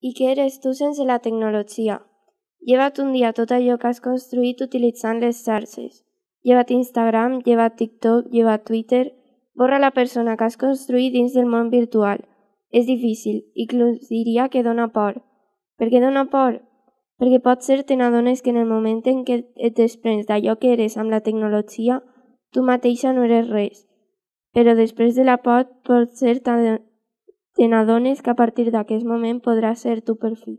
I què eres tu sense la tecnologia? Lleva't un dia tot allò que has construït utilitzant les xarxes. Lleva't Instagram, lleva't TikTok, lleva't Twitter. Borra la persona que has construït dins del món virtual. És difícil, inclús diria que dona por. Per què dona por? Perquè potser te n'adones que en el moment en què et desprens d'allò que eres amb la tecnologia, tu mateixa no eres res. Però després de la por, potser te n'adones que a partir d'aquest moment podràs ser tu per fi.